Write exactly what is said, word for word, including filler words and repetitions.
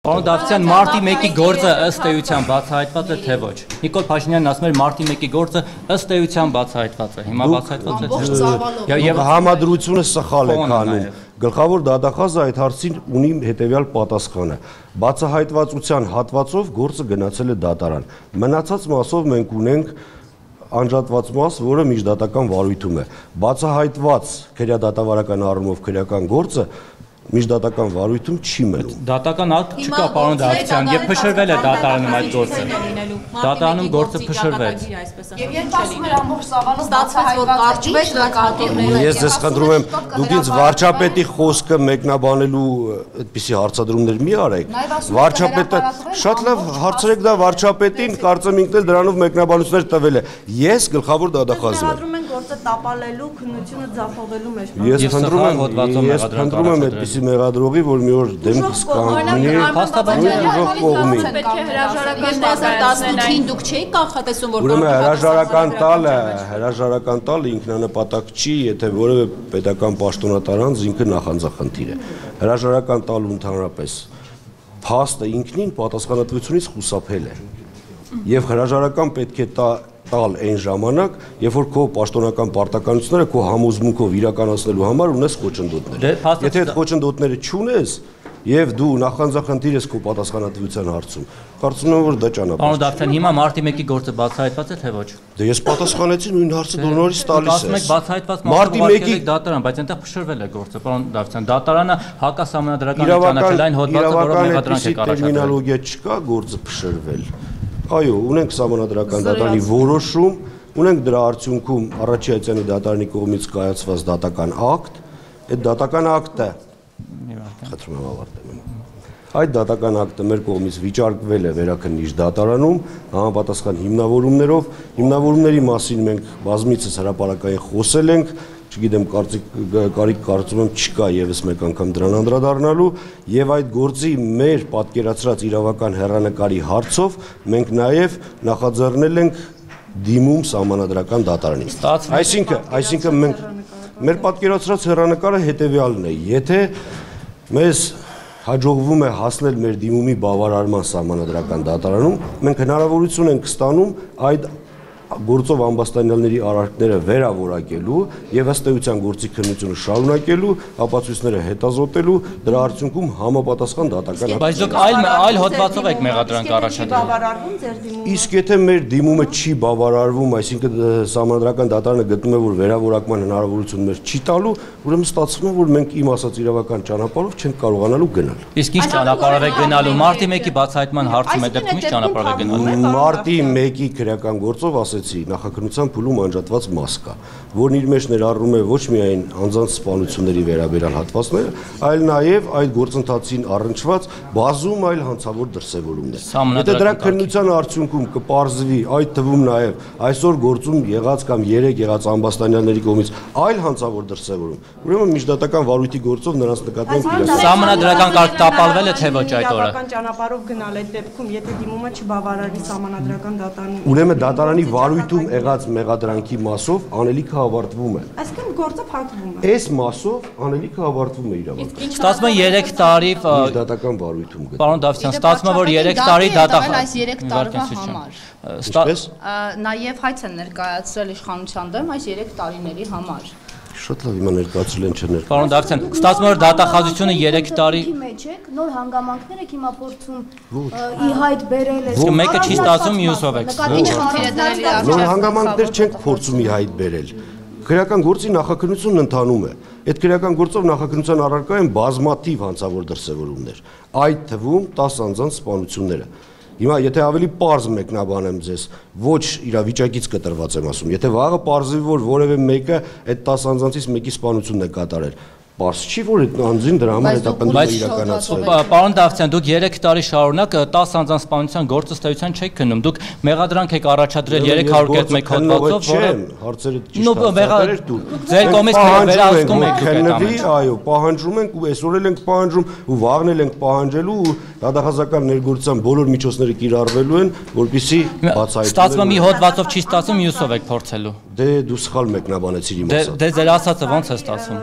Պարոն Դավթյան, մարտի մեկի գործը ըստ էության բացահայտված է թե ոչ։ Նիկոլ Փաշինյանն ասում էր մարտի մեկի գործը ըստ էության բացահայտված է։ Հիմա բացահայտված է։ Եվ համադրությունը սխալ է կանում։ Գլխավոր դատախազը այդ հարցին ունի հետևյալ պատասխանը։ Բացահայտվածության հատվածով գործը գնացել է դատարան։ Մնացած մասով մենք ունենք անջատված մաս, որը միջդատական վարույթում է։ Բացահայտված քրեադատավարական առումով քրեական գործը միջդատական վարույթում չի մնում։ Դատական ակտ չկա, պարոն Դավթյան, եւ փշրվել է դատարանում այդ գործը։ Դատարանում գործը փշրվեց։ Եւ երբ ասում էր ամբողջ Սավանը ստացվեց, որ կարճվեց նկատիվները։ Ես ձեզ խնդրում եմ, դուք ինձ վարչապետի խոսքը մեկնաբանելու այդպիսի հարցադրումներ մի արեք։ Վարչապետը շատ լավ հարցրեք դա վարչապետին, կարծեմ ինքն էլ դրանով մեկնաբանություններ տվել է։ Ես գլխավոր դատախազն եմ։ Գործը տապալելու, քննությունը ձախողելու մեջ։ Ես խնդրում եմ, ես խնդրում եմ այդպիսի մեղադրողի, որ մի օր դեմքս կանգնի, ուժով կողմի։ Պետք է հրաժարական տասնութին դուք չէիք կանխատեսում, որ ուրեմն հրաժարական տալը, հրաժարական տալը ինքնանպատակ չի, եթե որևէ պետական պաշտոնատար անձ ինքը նախանձախնդիր է։ Հրաժարական տալու ընդհանրապես փաստը ինքնին պատասխանատվությունից խուսափել է։ Եվ հրաժարական պետք է տա տալ այն ժամանակ, երբ որ քո պաշտոնական պարտականությունները քո համոզմունքով իրականացնելու համար ունես խոչընդոտներ։ Եթե այդ խոչընդոտները չունես եւ դու նախանձախնդիր ես քո պատասխանատվության հարցում, կարծում եմ որ դա ճանապարհ է։ Պարոն Դավթյան, հիմա մարտի մեկի գործը բացահայտված է թե ոչ։ Դե ես պատասխանեցի նույն հարցը դու նորից տալիս ես։ Ասում եք բացահայտված մարտի մեկի դատարան, բայց այնտեղ փշրվել է գործը, պարոն Դավթյան։ Դատարանը հակասահմանադրական ճանաչելային հոդվածը, որով մեղադրանք է առաջադրել։ Տերմինոլոգիա չկա գործը փշրվել։ Այո, ունենք Սահմանադրական դատարանի որոշում, ունենք դրա արդյունքում Առաջիացյանի դատարանի կողմից կայացված դատական ակտ, այդ դատական ակտը խնդրում եմ ավարտեմ։ Այդ դատական ակտը մեր կողմից վիճարկվել է Վերաքննիչ դատարանում համապատասխան հիմնավորումներով, հիմնավորումների մասին մենք բազմիցս հրապարակային խոսել ենք, չգիտեմ, կարիք կարծում եմ չկա եւս մեկ անգամ դրան անդրադառնալու եւ այդ գործի մեր պատկերացրած իրավական հեռանկարի հարցով մենք նաեւ նախաձեռնել ենք դիմում Սահմանադրական դատարանին։ Այսինքն, այսինքն մենք մեր պատկերացրած հեռանկարը հետեւյալն է. եթե մեզ հաջողվում է հասնել մեր դիմումի բավարարման Սահմանադրական դատարանում, մենք հնարավորություն ենք ստանում այդ գործով ամբաստանյալների արարքները վերավորակելու եւ ըստ էության գործի քննությունը շարունակելու, ապացույցները հետազոտելու, դրա արդյունքում համապատասխան դատական ակտ։ Բայց դուք այլ այլ հոդվածով եք մեղադրանք առաջադրում։ Իսկ եթե մեր դիմումը չի բավարարվում, այսինքն Սահմանադրական դատարանը գտնում է, որ վերավորակման հնարավորություն մեր չի տալու, ուրեմն ստացվում է, որ մենք իմ ասած իրավական ճանապարհով չենք կարողանալու գնալ։ Իսկ ինչ ճանապարհով է գնալու մարտի մեկի բացահայտման հարցում է դեպքում ինչ ճանապարհով է գնալու։ Մարտի մեկի քրեական գործով նախաքննության փուլում անջատված մաս կա, որն իր մեջ ներառում է ոչ միայն անձանց սպանությունների վերաբերյալ հատվածները, այլ նաև այդ գործընթացին առնչված բազում այլ հանցավոր դրսևորումներ։ Եթե դրա քննության արդյունքում կպարզվի, այդ թվում նաև այսօր գործում եղած կամ երեք եղած ամբաստանյալների կողմից այլ հանցավոր դրսևորում, ուրեմն միջդատական վարույթի գործով նրանց նկատմամբ Սահմանադրական կարգ տապալվել է թե ոչ այդ օրը։ Իրավական ճանապարհով գնալ այդ դեպքում, եթե դիմումը չբավարարի Սահմանադրական դատարանի։ Ուրեմն դատարանի վարույթում եղած մեղադրանքի մասով անելիքը ավարտվում է։ Այսինքն գործը փակվում է։ Այս մասով անելիքը ավարտվում է իրավական։ Ստացվում է երեք տարի դատական վարույթում գտնվում։ Պարոն Դավթյան, ստացվում է որ երեք տարի դատախազ այս երեք տարվա համար։ Ինչպես։ Նաև հայց են ներկայացրել իշխանության դեմ այս երեք տարիների համար։ Շատ լավ, հիմա ներկայացրել են չներ։ Պարոն Դավթյան, ստացվում է որ դատախազությունը երեք տարի մեջ եք, նոր հանգամանքներ եք հիմա փորձում ի հայտ բերել եք։ Մեկը չի ստացվում, մյուսով եք։ Ինչ խնդիր է դրելի արդյոք։ Նոր հանգամանքներ չենք փորձում ի հայտ բերել։ Քրեական գործի նախաքննությունն ընթանում է։ Այդ քրեական գործով նախաքննության առարկա են բազմաթիվ հանցավոր դրսևորումներ, այդ թվում տասը անձանց սպանությունները։ Հիմա եթե ավելի պարզ մեկնաբանեմ ձեզ, ոչ իրավիճակից կտրված եմ ասում, եթե վաղը պարզվի, որ որևէ մեկը այդ տասը անձանցից մեկի սպանությունն է կատարել, պարզ չի, որ այդ անձին դրա համար հետապնդում իրականացվել։ Պարոն Դավթյան, դուք երեք տարի շարունակ տասը անձանց սպանության գործը ըստ էության չեք քննում։ Դուք մեղադրանք եք առաջադրել երեք հարյուր կես մեկ հոդվածով, որը հարցերը ճիշտ դու։ Ձեր կողմից վերահսկում եք քննվի, այո, պահանջում ենք ու այսօր էլ ենք պահանջում ու վաղն էլ ենք պահանջելու ու դատախազական ներգործության բոլոր միջոցները կիրառվելու են, որպեսզի բացահայտվեն։ Ստացվում է մի հոդվածով չի ստացվում, մյուսով եք փորձելու։ Դե դու սխալ մեկնաբանեցիր իմ ասածը։ Դե ձեր ասածը ո՞նց է ստացվում։